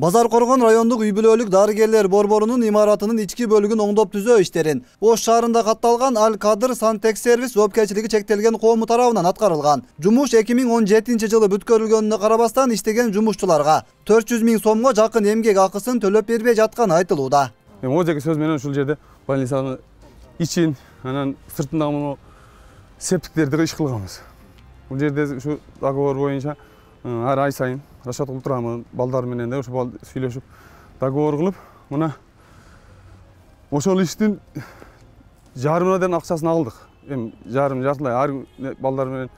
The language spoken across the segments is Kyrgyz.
Базар Коргон райондук үй бүлөлүк дарыгерлер борборунун имаратынын ички бөлүгүн оңдоп түзөө иштерин Ош шаарында катталган Аль-Кадыр Сантехсервис жоопкерчилиги чектелген коому тарабынан аткарылган. Жумуш 2017-жылы бүткөрүлгөнүнө карабастан иштеген жумушчуларга 400 000 сомго жакын эмгек акысын төлөп бербей жатканы айтылууда. Ожеки сөз менен ушул жерде больницанын ичин, анан сыртындагы септиктерди иш кылганбыз. Бул жерде ушу договор боюнча ар ай сайын расчет кылып турамын, балдар менен да ушу сүйлөшүп договор кылып, мына ошол иштин жарымына дейин акчасын алдык. Эми жартылай ар балдар менен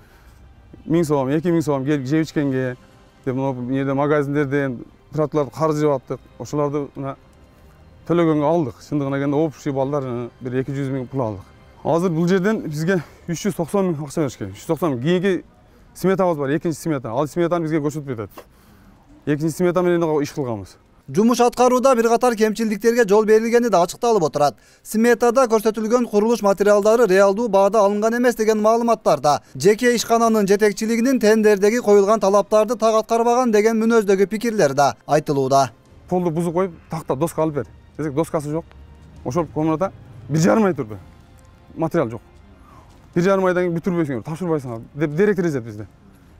1000 сом, 2000 сом келип жеп ичкенге, деп мына магазиндерден тротуарларды карыз жеп аттык. Ошолорду мына төлөгөнгө алдык. Чындыгына келгенде общий балдар бир 200 000 пул алдык. Азыр бул жерден бизге 390 000 акча беришкен. 390 000 кийинки сметабыз бар, экинчи смета. Ал сметаны бизге көрсөтүп атат. Экинчи смета менен иш кылганбыз. Жумуш аткарууда бир катар кемчилдиктерге жол берилгени да ачыкталып отурат. Сметада көрсөтүлгөн курулуш материалдары реалдуу баада алынган эмес деген маалыматтарда жеке ишкананын жетекчилигинин тендердеги коюлган талаптарды так аткарбаган деген мүнөздөгү пикирлер да айтылууда. Полду бузуп коюп, такта доска алып бер. Десек доскасы жок. Ошол комната 1,5 ай турду. Материал жок. 1,5 айдан кийин бүтүрбөйсүңөр, тапшырбайсыңар деп директор эзет бизде.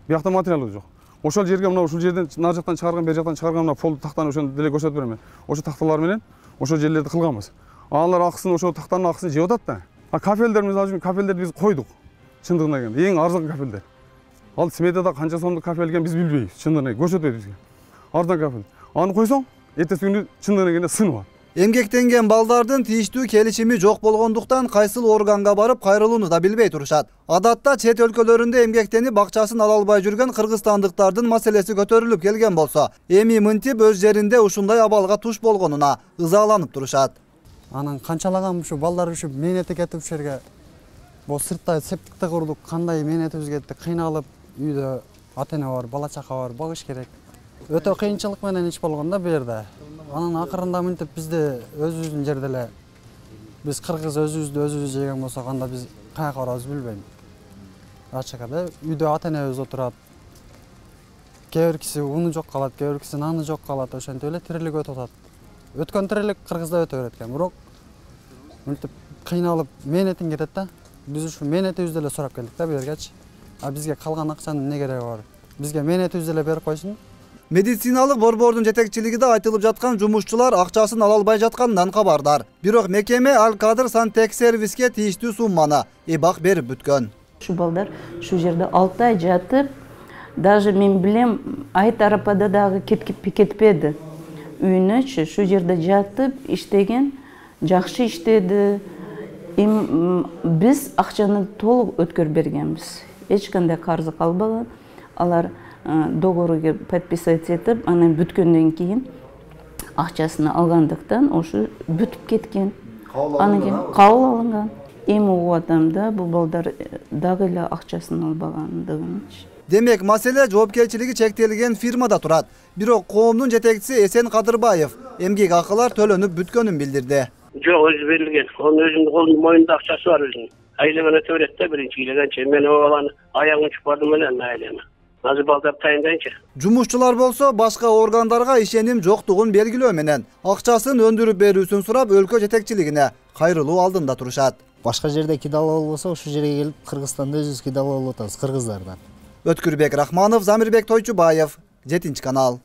Биякта материал жок. Ошол жерге мына ушул жерден нар жактан чыгарган, бер жактан чыгарган мына полду тактаны ошону деле көрсөтүп берем. Ошо такталар менен ошол жерлерди кылганбыз. Алар акысын ошол тактанын акысын жеп атат да. А кафелдер мисалы үчүн кафелдерди биз койдук. Чындыгына келгенде эң арзан кафелдер. Ал сметада канча сомдук кафел экенин биз билбейбиз. Чындыгына көрсөтпөйт бизге. Арзан кафел. Аны койсоң, эртеси күнү чындыгына келгенде сынып. Эмгектенген балдардын тийиштүү келишими жок болгондуктан кайсыл органга барып кайрылууну да билбей турушат. Адатта чет өлкөлөрүндө эмгектенип акчасын ала албай жүргөн кыргызстандыктардын маселеси көтөрүлүп келген болсо, эми мынтип өз жеринде ушундай абалга туш болгонуна ызаланып турушат. Анан канчалаган ушу балдар ушу мээнети кетип ушул жерге бул сырттай септикти курдук, кандай мээнетибиз кетти, кыйналып үйдө ата-эне бар, бала чака бар, багыш керек. Өтө кыйынчылык менен иш болгон да бу жерде. Анан акырында мынтип бизде өзүбүздүн жерде эле биз кыргыз өзүбүз жеген болсок, анда биз каяка барабызды билбейм. Ачык эле үйдө ата-энебиз отурат. Кээ бир киши уну жок калат, кээ бир киши наны жок калат, ошентип эле тирилик өтүп атат. Өткөн тирилик Кыргызда өтө берет экен, бирок мынтип кыйналып мээнетиң кетет да. Биз ушу мээнетибизди эле сурап келдик да бу жергечи. А бизге калган акчанын эмне кереги бар? Бизге мээнетибизди эле берип койсун. Медициналык борбордун жетекчилигинде айтылып жаткан жумушчулар акчасын ала албай жатканынан кабардар. Бирок мекеме Аль-Кадыр Сантехсервиске тийиштүү сумманы эбак берип бүткөн. Ушу балдар ушу жерде 6 ай жатып, даже мен билем, ай тарапада дагы кетпеди. Үйүнөчү ушу жерде жатып иштеген, жакшы иштеди. Биз акчаны толук өткөрүп бергенбиз. Эч кандай карызы калбаган. Алар договорго подписать этип, анан бүткөндөн кийин акчасын алгандыктан ошо бүтүп кеткен. Анан кийин кабыл алынган. Эми угуп атам да, бул балдар дагы эле акчасын албагандыгынчы. Демек, маселе жоопкерчилиги чектелген фирмада турат. Бирок коомдун жетекчиси Эсен Кадырбаев эмгек акылар төлөнүп бүткөнүн билдирди. Жок, өзү берилген. Онун өзүнүн колунун моюнда акчасы бар өзүнүн. Айлыгын өтө берет да биринчи кийлегенче. Мен о баланы аягын учуп бардым эле айлыгына. Азыр балдар тайындайынчы. Жумушчулар болсо башка органдарга ишеним жоктугун белгилөө менен акчасын өндүрүп берүүсүн сурап өлкө жетекчилигине кайрылуу алдында турушат. Башка жерде кидалуу болбосо ушул жерге келип Кыргызстанда өзүбүз кидалуу болуп атабыз кыргыздардан. Өткүрбек Рахманов, Замирбек Тойчубаев, 7 канал.